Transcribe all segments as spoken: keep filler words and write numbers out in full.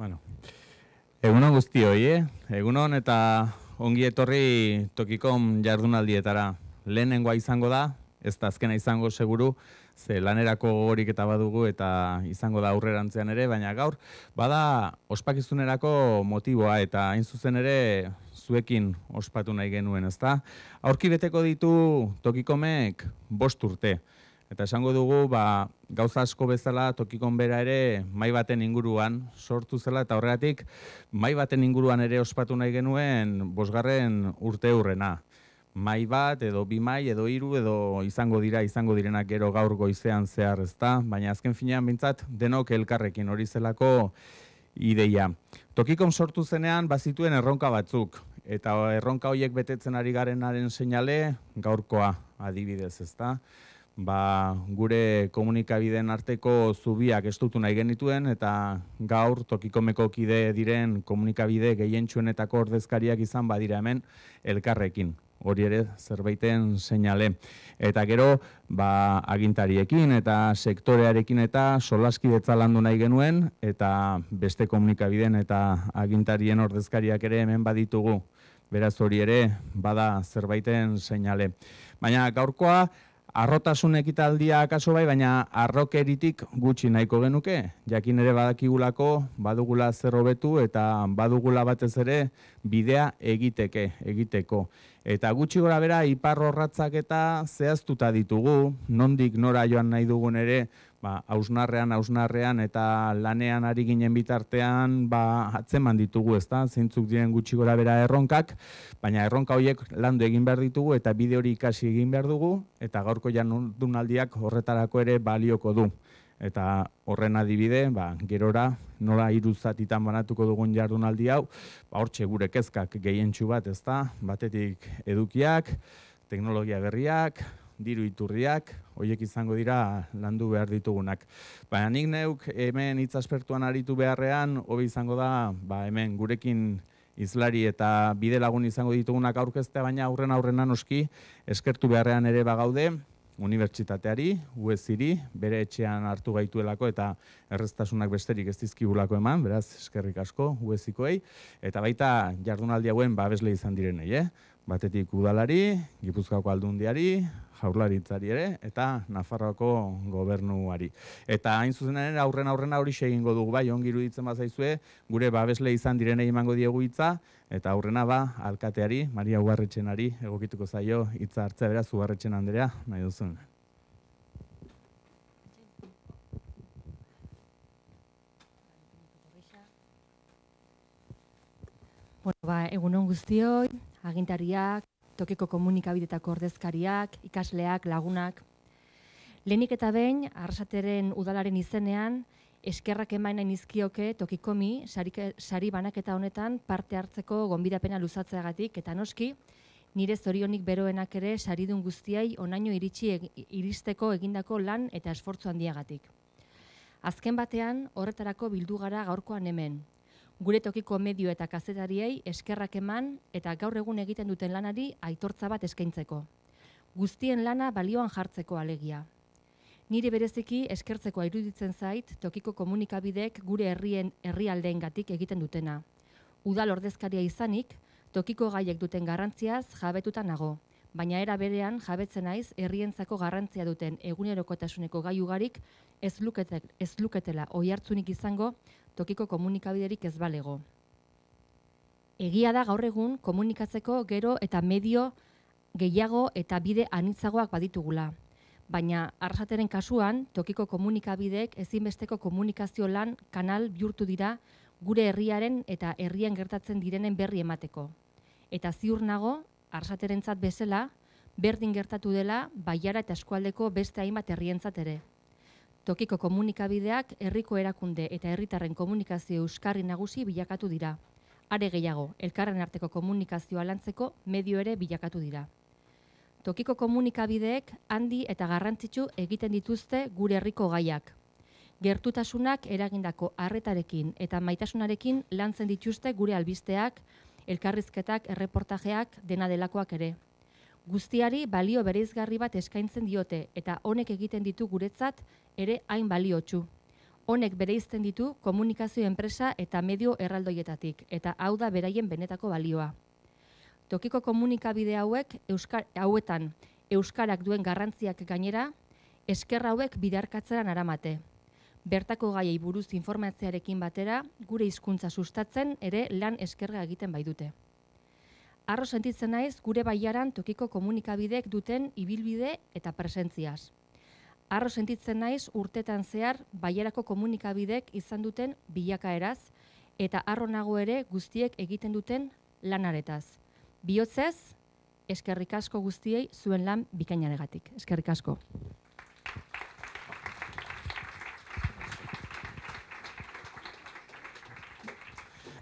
Bueno, egunon guztioi, eh? Egunon eta ongi etorri Tokikom jardunaldietara. Lehenengoa izango da, ez da azkena izango seguru, ze lanerako gogorik eta badugu eta izango da aurrerantzean ere, baina gaur, bada ospakizunerako motiboa eta hain zuzen ere zuekin ospatu nahi genuen, ezta? Aurki beteko ditu Tokikomek bost urte. Eta esango dugu, ba, gauza asko bezala Tokikon bera ere mai baten inguruan sortu zela, eta horregatik mai baten inguruan ere ospatu nahi genuen bosgarren urte hurrena. Mai bat, edo bi mai, edo hiru, edo izango dira, izango direnak gero gaur goizean zehar, ezta? Baina azken finean bintzat denok elkarrekin hori zelako ideia. Tokikon sortu zenean bazituen erronka batzuk, eta erronka horiek betetzen ari garenaren seinale gaurkoa adibidez, ezta? Ba, gure komunikabideen arteko zubiak estutu nahi genituen eta gaur Tokikomeko kide diren komunikabide gehientsuenetako ordezkariak izan badira hemen elkarrekin. Hori ere zerbaiten seinale. Eta gero, ba, agintariekin eta sektorearekin eta solaskidetza landu nahi genuen eta beste komunikabideen eta agintarien ordezkariak ere hemen baditugu. Beraz hori ere bada zerbaiten seinale. Baina gaurkoa arrotasun ekitaldia akaso bai, baina arrokeritik gutxi nahiko genuke. Jakin ere badakigulako, badugula zer hobetu eta badugula batez ere bidea egiteke, egiteko. Eta gutxi gora bera ipar orratzak eta zehaztuta ditugu, nondik nora joan nahi dugun ere, ba, hausnarrean, hausnarrean eta lanean ari ginen bitartean, ba, atzeman ditugu, ezta? Zeintzuk diren gutxi gora bera erronkak, baina erronka horiek landu egin behar ditugu eta bide hori ikasi egin behar dugu, eta gaurko jardunaldiak horretarako ere balioko du. Eta horren adibide, ba, gerora nola hiru zatitan banatuko dugun jardunaldi hau, ba, hortxe gure kezkak gehientsu bat, ezta? Batetik edukiak, teknologia berriak, diru iturriak, horiek izango dira landu behar ditugunak. Baina nik neuk hemen hitz aspertuan aritu beharrean, hobi izango da, ba, hemen gurekin izlari eta bide lagun izango ditugunak aurkeztea, baina aurren aurrena noski eskertu beharrean ere bagaude, unibertsitateari, U E S-iri, bere etxean hartu gaituelako eta erreztasunak besterik ez dizkigulako eman, beraz, eskerrik asko U E S-ikoei, eta baita jardunaldi hauen babesle izan direnei, eh? Batetik udalari, Gipuzkoako aldundiari, jaurlaritzari ere, eta Nafarroako gobernuari. Eta hain zuzenaren aurren aurrena hori egingo dugu, bai, ongi iruditzen bazaizue, gure babesle izan direnei emango diegu hitza, eta aurrena ba, alkateari, Maria Ugarretxenari, egokituko zaio hitza hartzea, beraz, Ugarretxen Andrea, nahi duzun. Bueno, ba, egunon guztioi, agintariak, tokiko komunikabidetako ordezkariak, ikasleak, lagunak. Lehenik eta behin, Arrasateren udalaren izenean, eskerrak eman nahi nizkioke Tokikomi sari, sari banaketa honetan parte hartzeko gonbidapena luzatzeagatik, eta noski, nire zorionik beroenak ere saridun guztiai onaino iritsi eg, iristeko egindako lan eta esfortzu handiagatik. Azken batean, horretarako bildu gara gaurkoan hemen. Gure tokiko medio eta kazetariei eskerrak eman eta gaur egun egiten duten lanari aitortza bat eskaintzeko. Guztien lana balioan jartzeko alegia. Nire bereziki eskertzeko iruditzen zait tokiko komunikabideek gure herrien herrialdeengatik egiten dutena. Udal ordezkaria izanik, tokiko gaiek duten garrantziaz jabetuta nago, baina era berean jabetzen naiz herrientzako garrantzia duten egunerokotasuneko gai ugarik ez lukete, ez luketela oihartzunik izango tokiko komunikabiderik ez balego. Egia da gaur egun komunikatzeko gero eta medio gehiago eta bide anitzagoak baditugula. Baina Arrasateren kasuan, tokiko komunikabideek ezinbesteko komunikazio lan kanal bihurtu dira gure herriaren eta herrian gertatzen direnen berri emateko. Eta ziur nago, Arrasaterentzat bezala, berdin gertatu dela Baiara eta eskualdeko beste hainbat herrientzat ere. Tokiko komunikabideak herriko erakunde eta herritarren komunikazio euskarri nagusi bilakatu dira. Are gehiago, elkarren arteko komunikazioa lantzeko medio ere bilakatu dira. Tokiko komunikabideek handi eta garrantzitsu egiten dituzte gure herriko gaiak. Gertutasunak eragindako arretarekin eta maitasunarekin lantzen dituzte gure albisteak, elkarrizketak, erreportajeak, dena delakoak ere. Guztiari balio bereizgarri bat eskaintzen diote eta honek egiten ditu guretzat ere hain baliotsu. Honek bereizten ditu komunikazio enpresa eta medio erraldoietatik, eta hau da beraien benetako balioa. Tokiko komunikabide hauek euskar, hauetan euskarak duen garrantziak gainera, esker hauek bidarkatzeran aramate. Bertako gaiei buruz informatzearekin batera, gure hizkuntza sustatzen ere lan eskerga egiten baitute. Harro sentitzen naiz gure baiaran tokiko komunikabidek duten ibilbide eta presentziaz. Harro sentitzen naiz urtetan zehar baiarako komunikabidek izan duten bilakaeraz, eta harro nago ere guztiek egiten duten lanaretaz. Bihotzez, eskerrik asko guztiei zuen lan bikainaregatik. Eskerrik asko.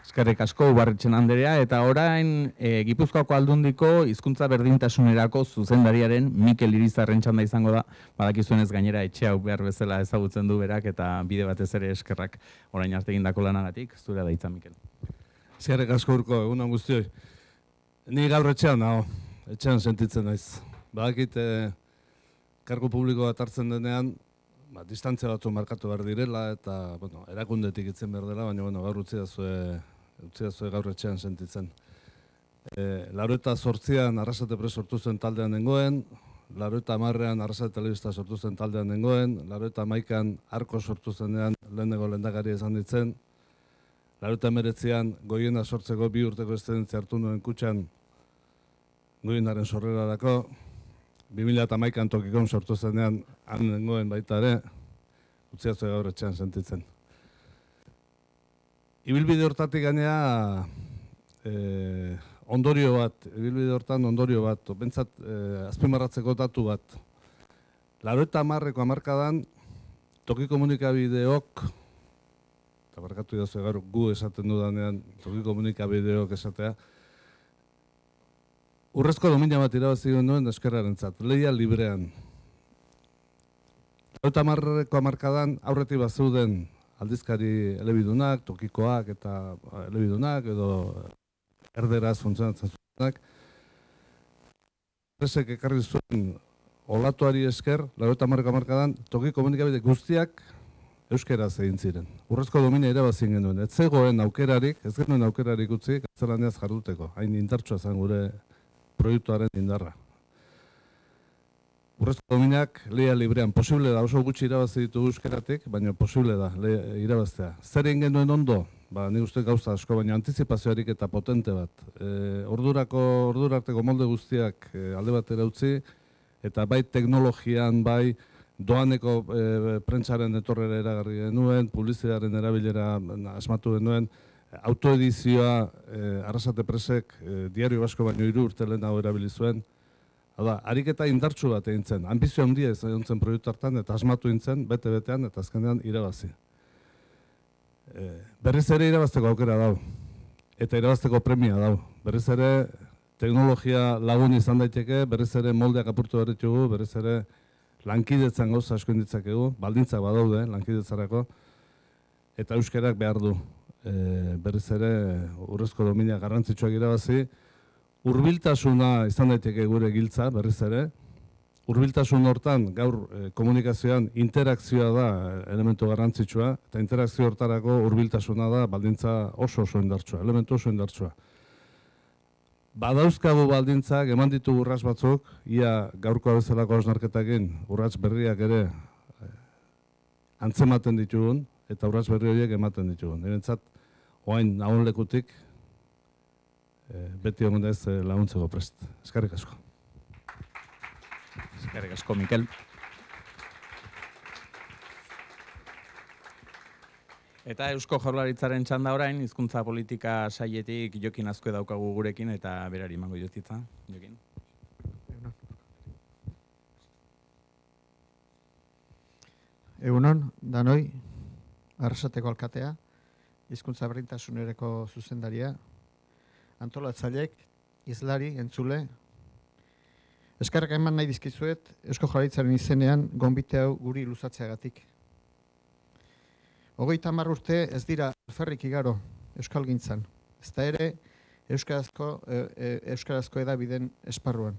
Eskerrik asko Ubarretxen Anderea, eta orain e, Gipuzkoako Aldundiko hizkuntza berdintasunerako zuzendariaren Mikel Irizarren txanda izango da. Badakizuenez gainera etxe hau behar bezala ezagutzen du berak eta bide batez ere eskerrak orain arte egindako lanagatik. Zurea da hitza, Mikel. Eskerrik asko Urko, egun on guztioi. Ni gaur etxean nago, etxean sentitzen naiz. Badakit eh, kargu publiko bat hartzen denean, ba, distantzia batzu markatu behar direla eta bueno, erakundetik itzen behar dela, baina bueno, gaur utzi dazue, utzi dazue gaur etxean sentitzen. E, Laurogeita zortzian Arrasate Press sortu zen taldean nengoen, laurogeita hamarrean Arrasate Telebista sortu zen taldean nengoen, laurogeita hamaikan Arko sortu zenean lehenengo lehendakari izan ditzen, laurogeita hemeretzian Goiena sortzeko bi urteko eszedentzia hartu nuen kutxan Goienaren sorrerarako, bi mila hamaikan Tokikon sortu zenean han nengoen baita ere, utzi dazue gaur etxean sentitzen. Ibilbide hortatik gainea eh, ondorio bat, ibilbide hortan ondorio bat, bentsat eh, azpimarratzeko datu bat. Laurogeita hamarreko hamarkadan toki komunikabideok, eta barkatu dazue gaur gu esaten dudanean toki komunikabideok esatea, urrezko domina bat irabazi genuen eskerrarentzat, lehia librean. Laurogeita hamarreko hamarkadan aurretik bazeuden aldizkari elebidunak, tokikoak eta elebidunak edo erderaz funtzionatzen zuenak. Presek ekarri zuen olatuari esker, laurogeita hamarreko hamarkadan toki komunikabide guztiak euskeraz egin ziren. Urrezko domina irabazien genuen. Ez zegoen aukerarik, ez genuen aukerarik utzi, gaztelaniaz jarduteko. Hain indartsua zen gure proiektuaren indarra. Urrezko dominak lehia librean posible da, oso gutxi irabazi ditugu euskeratik, baina posible da irabaztea. Zer egin genuen ondo? Ba, nik uste gauza asko, baina antizipazioarik eta potente bat. E, ordurako, ordurarteko molde guztiak e, alde batera utzi, eta bai teknologian, bai doaneko e, prentsaren etorrera eragarri genuen, publizitatearen erabilera asmatu genuen, autoedizioa e, Arrasate Pressek e, Diario Basko baino hiru urte lehenago erabili zuen. Hau da, ariketa indartsu bat egin zen, anbizio handia izan zen proiektu hartan eta asmatu egin zen, bete-betean eta azkenean irabazi. E, berriz ere irabazteko aukera dau, eta irabazteko premia dau. Berriz ere teknologia lagun izan daiteke, berriz ere moldeak apurtu behar ditugu, berriz ere lankidetzan gauza asko inditzakegu, baldintzak badaude lankidetzarako, eta euskerak behar du. E, berriz ere urrezko domina garrantzitsuak irabazi, hurbiltasuna izan daiteke gure giltza, berriz ere. Hurbiltasun hortan, gaur e, komunikazioan interakzioa da elementu garrantzitsua, eta interakzio hortarako hurbiltasuna da baldintza oso oso indartsua, elementu oso indartsua. Badauzkagu baldintzak, eman ditugu urrats batzuk, ia gaurko bezalako hausnarketakin urrats berriak ere e, antzematen ditugun, eta urrats berri horiek ematen ditugun. Nirentzat, oain nahon lekutik, e, beti egon da ez e, laguntzeko prest. Eskerrik asko. Eskerrik asko, Mikel. Eta Eusko Jaurlaritzaren txanda orain, hizkuntza politika sailetik Jokin Azkue daukagu gurekin, eta berari emango jotitza, Jokin. Egunon, danoi, Arrasateko alkatea, hizkuntza berdintasunerako zuzendaria, antolatzailek, izlari, entzule. Eskerrak eman nahi dizkizuet, Eusko Jaurlaritzaren izenean gonbite hau guri luzatzeagatik. Hogeita hamar urte ez dira alferrik igaro euskalgintzan, ezta ere euskarazko, e, e, euskarazko edabideen esparruan.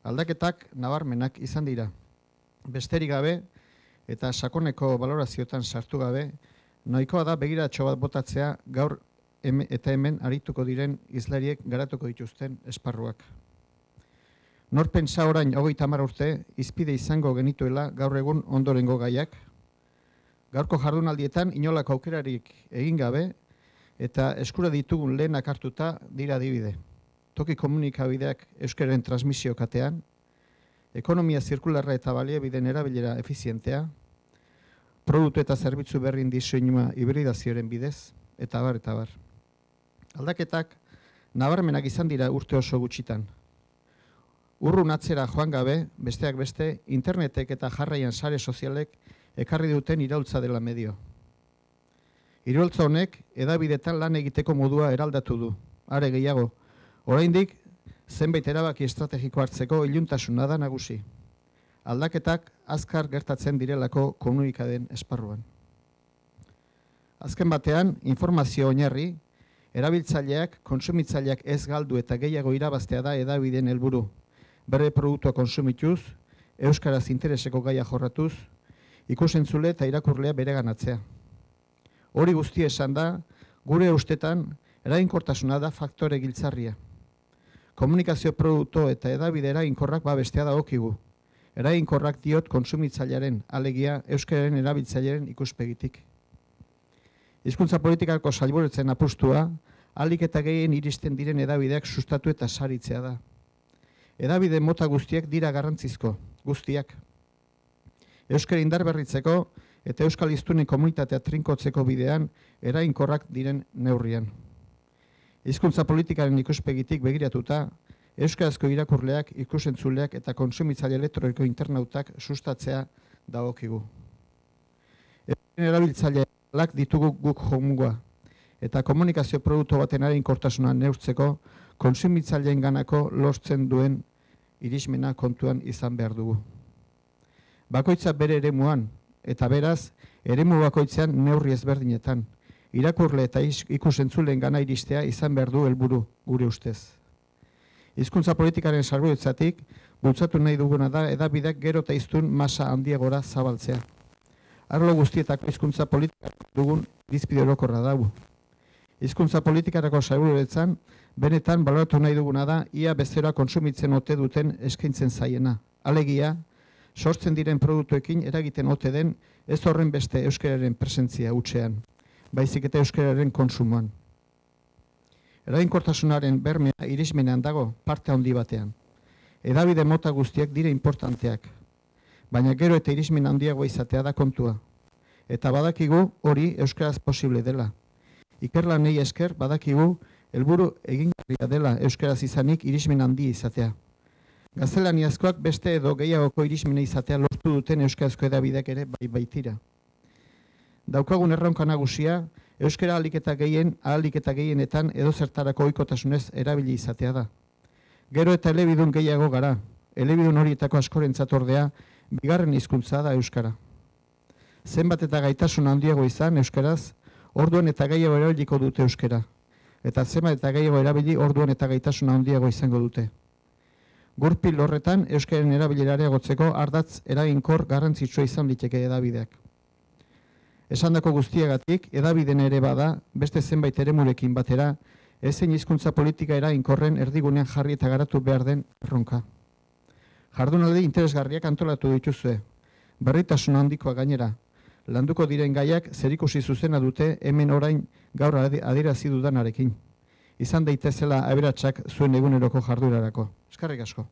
Aldaketak nabarmenak izan dira. Besterik gabe, eta sakoneko balorazioetan sartu gabe, nahikoa da begiratxo bat botatzea gaur eta hemen arituko diren hizlariek garatuko dituzten esparruak. Nor pentsa orain hogeita hamar urte hizpide izango genituela gaur egun ondorengo gaiak. Gaurko jardunaldietan inolako aukerarik egin gabe eta eskura ditugun lehenak hartuta dira adibide. Toki komunikabideak euskararen transmisio katean, ekonomia zirkularra eta baliabideen erabilera efizientea, produktu eta zerbitzu berrin diseinua hibridazioaren bidez, eta bar, eta bar. Aldaketak nabarmenak izan dira urte oso gutxitan. Urrun atzera joan gabe, besteak beste, internetek eta jarraian sare sozialek ekarri duten iraultza dela medio. Iraultza honek hedabideetan lan egiteko modua eraldatu du. Are gehiago, oraindik zenbait erabaki estrategiko hartzeko iluntasuna da nagusi. Aldaketak azkar gertatzen direlako komunikaden esparruan. Azken batean, informazio oinarri, erabiltzaileak, kontsumitzaileak ez galdu eta gehiago irabaztea da hedabideen helburu. Bere produktua konsumituz, euskaraz intereseko gaia jorratuz, ikusentzule eta irakurlea bereganatzea. Hori guztia esan da, gure ustetan, eraginkortasuna da faktore giltzarria. Komunikazio produktu eta hedabide eraginkorrak babestea da okigu. Eraginkorrak diot kontsumitzailearen, alegia euskararen erabiltzailearen ikuspegitik. Hizkuntza politikako sailburutzen apustua, ahalik eta gehien iristen diren hedabideak sustatu eta saritzea da. Hedabide mota guztiak dira garrantzizko, guztiak. Euskara indarberritzeko eta euskal hiztunen komunitatea trinkotzeko bidean eraginkorrak diren neurrian. Hizkuntza politikaren ikuspegitik begiratuta, euskarazko irakurleak, ikusentzuleak eta kontsumitzaile elektroniko internautak sustatzea dagokigu. Euskaren erabiltzaileak ditugu guk jomuga eta komunikazio produktu baten eraginkortasuna neurtzeko kontsumitzaileen ganako lortzen duen irismena kontuan izan behar dugu. Bakoitza bere eremuan eta beraz eremu bakoitzean neurri ezberdinetan, irakurle eta ikusentzuleen gana iristea izan behar du helburu gure ustez. Hizkuntza politikaren sailburutzatik bultzatu nahi duguna da hedabideak gero eta hiztun masa handiagora zabaltzea. Arlo guztietako hizkuntza politikak dugun irizpide orokorra dago. Hizkuntza politikarako sailburutzan benetan baloratu nahi duguna da ia bezeroa kontsumitzen ote duten eskaintzen zaiena. Alegia, sortzen diren produktuekin eragiten ote den ez horren beste euskararen presentzia hutsean, baizik eta euskararen konsumoan. Eraginkortasunaren bermea irismenean dago parte handi batean. Hedabide mota guztiak dire importanteak, baina gero eta irismen handiagoa izatea da kontua. Eta badakigu hori euskaraz posible dela. Ikerlanei esker badakigu helburu egingarria dela euskaraz izanik irismen handi izatea. Gaztelaniazkoak beste edo gehiagoko irismena izatea lortu duten euskarazko hedabideak ere bai baitira. Daukagun erronka nagusia, euskara ahalik eta gehien, ahalik eta gehienetan edo zertarako ohikotasunez erabili izatea da. Gero eta elebidun gehiago gara, elebidun horietako askorentzat ordea, bigarren hizkuntza da euskara. Zenbat eta gaitasun handiago izan euskaraz, orduan eta gehiago erabiliko dute euskara. Eta zenbat eta gehiago erabili orduan eta gaitasun handiago izango dute. Gurpil horretan euskaren erabilera areagotzeko ardatz eraginkor garrantzitsua izan liteke hedabideak. Esandako guztiagatik, hedabideen ere bada, beste zenbait eremurekin batera, ezein hizkuntza politika eraginkorren erdigunean jarri eta garatu behar den erronka. Jardunaldi interesgarriak antolatu dituzue, berritasun handikoa gainera, landuko diren gaiak zerikusi zuzena dute hemen orain gaur adierazi dudanarekin. Izan daitezela aberatsak zuen eguneroko jardurarako. Eskerrik asko.